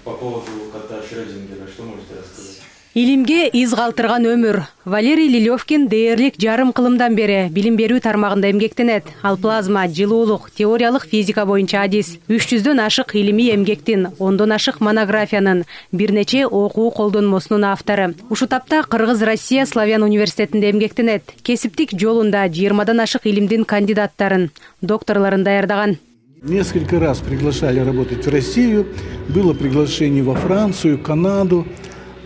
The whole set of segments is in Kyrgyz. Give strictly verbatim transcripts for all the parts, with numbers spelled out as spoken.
По поводу кота Шрёдингера, что можете рассказать? Илимге из калтырган өмүр. Валерий Лилевкин дээрлик жарым кылымдан бери билим берүү тармагында эмгектенет. Ал плазма, жылуулук, теориялык физика боюнча адис, үч жүздөн ашык илимий эмгектин, ондон ашык монографиянын, бир нече окуу колдонмосунун автору. Ушу тапта Кыргыз Россия Славян университетинде эмгектенет. Кесиптик жолунда жыйырмадан ашык илимдин кандидаттарын, докторлорун даярдаган. Несколько раз приглашали работать в Россию, было приглашение во Францию, Канаду,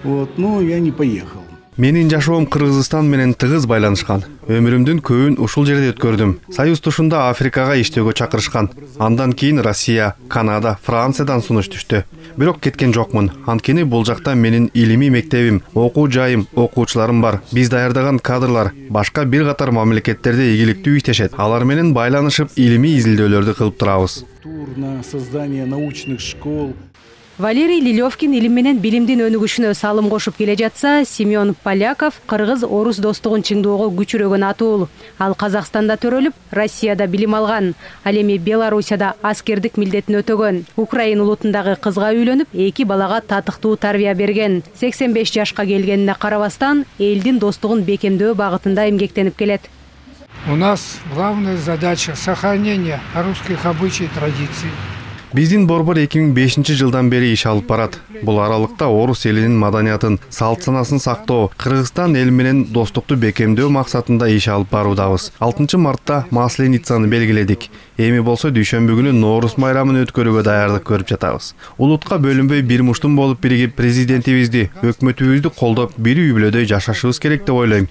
вот, но я не поехал. Менин жашоом Кыргызстан менен тыгыз байланышкан. Өмүрүмдүн көбүн ушул жерде өткөрдүм. Союз тушунда Африкага иштөөгө чакырышкан. Андан кийин Россия, Канада, Франциядан сунуш түштү. Бирок кеткен жокмун. Анткени бул жакта менин илимий мектебим, окуу жайым, окуучуларым бар. Биз даярдаган кадрлар башка бир катар мамлекеттерде ийгиликтүү иштешет. Алар менен байланышып, илимий изилдөөлөрдү кылып турабыз. На создание научных школ. Валерий Лилевкин илим менен билимдин өнүгүшүнө салым кошуп келе жатса, Семен Поляков кыргыз-орус достугун чыңдоого күчүрөгөн атуул. Ал Казакстанда төрөлүп, Россияда билим алган. Ал эми Белоруссияда аскердик милдетин өтөгөн. Украин улутундагы кызга үйлөнүп, эки балага татыктуу тарбия берген. сексен беш жашка келгенине карабастан, элдин достугун бекемдөө багытында эмгектенип келет. У нас главная задача сохранения русских обычаев и традиций. Биздин борбор эки миң бешинчи жылдан бери иш алып барат. Бул аралыкта орус элинин маданиятын, салт санасын сактоо, Кыргызстан эл менен достукту бекемдөө максатында иш алып баруудабыз. алтынчы мартта Масленицаны белгиледик. Эми болсо дүйшөмбү күнү Ноорус майрамын өткөрүүгө даярдык көрүп жатабыз. Улутка бөлүнбөй бир муштум болуп биригип президентибизди, өкмөтүбүздү колдоп, бир үй бүлөдөй жашашыбыз керек деп ойлойм.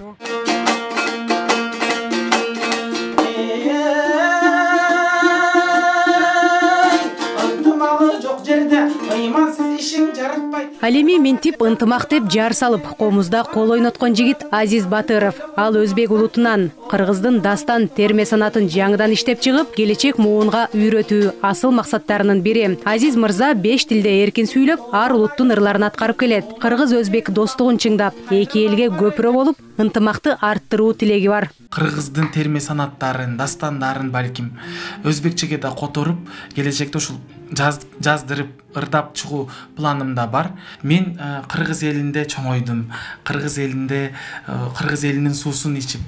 Ал эми минтип ынтымак деп жар салып, комузда кол ойноткон жигит Азиз Батыров. Ал өзбек улутунан кыргыздын дастан терме санатын жаңыдан иштеп чыгып, келечек муунга үйрөтүү асыл максаттарынын бири. Азиз мырза беш тилде эркин сүйлөп, ар улуттун ырларын аткарып келет. Кыргыз-өзбек достугун чыңдап, эки элге көпүрө болуп, ынтымакты арттыруу тилеги бар. Кыргыздын терме санаттарын, дастандарын балким өзбекчеге да которуп, келечекте ушул жаз, жаздырып, ырдап чыгуу планымда бар. Мен ә, Кыргыз элинде чоңойдум. Кыргыз элинде ә, Кыргыз элинин суусун ичип,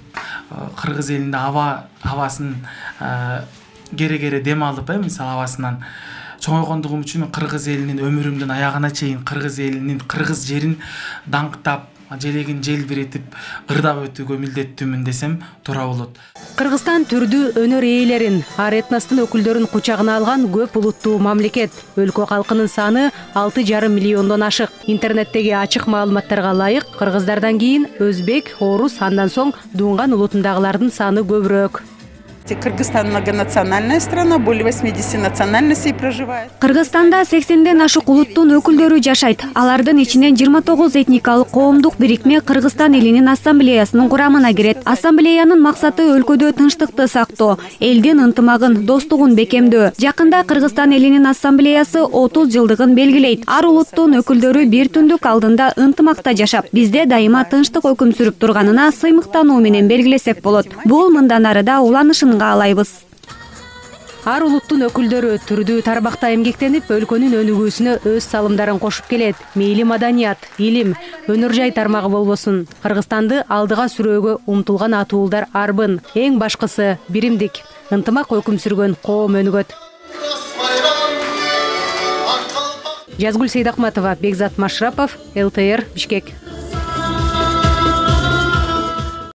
ә, Кыргыз элинде аба абасын кере-кере дем алып, э, мисалы абасынан чоңойгондугум үчүн мен Кыргыз элинин өмүрүмдүн аягына чейин Кыргыз элинин Кыргыз жерин даңктап, желегин желбиретип, ырдап өтүүгө милдеттүүмүн десем туура болот. Кыргызстан түрдүү өнөр ээлерин, ар этностун өкүлдөрүн кучагына алган көп улуттуу мамлекет. Өлкө калкынын саны алты жарым миллиондон ашык. Интернеттеги ачык маалыматтарга ылайык, кыргыздардан кийин өзбек, орус, андан соң дуңган улутундагылардын саны көбүрөөк. Кыргызстан многонациональная страна, более восьмидесяти национальностей проживает. Кыргызстанда сексенден ашык улуттун өкүлдөрү жашайт. Алардын ичинен жыйырма тогуз этникалык коомдук бирикме Кыргызстан элинин ассамблеясынын курамына кирет. Ассамблеянын максаты өлкөдө тынчтыкты сактоо, элдин ынтымагын, достугун бекемдөө. Жакында Кыргызстан элинин ассамблеясы отуз жылдыгын белгилейт. Ар улуттун өкүлдөрү бир түндүк алдында ынтымакта жашап, бизде дайыма тынчтык өкүм сүрүп турганына сыймыктануу менен белгилесек болот. Бул мындан ары да уланышын алайбыз. Ар улуттун өкүлдөрү түрдүү тармакта эмгектенип, өлкөнүн өнүгүүсүнө өз салымдарын кошуп келет. Мейли маданият, илим, өнөр жай тармагы болбосун. Кыргызстанды алдыга сүрөөгө умтулган атуулдар арбын. Эң башкысы биримдик. Ынтымак өкүм сүргөн коом өнүгөт. Жазгүл Сейдахматова, Бекзат Машрапов, эл тэ эр, Бишкек.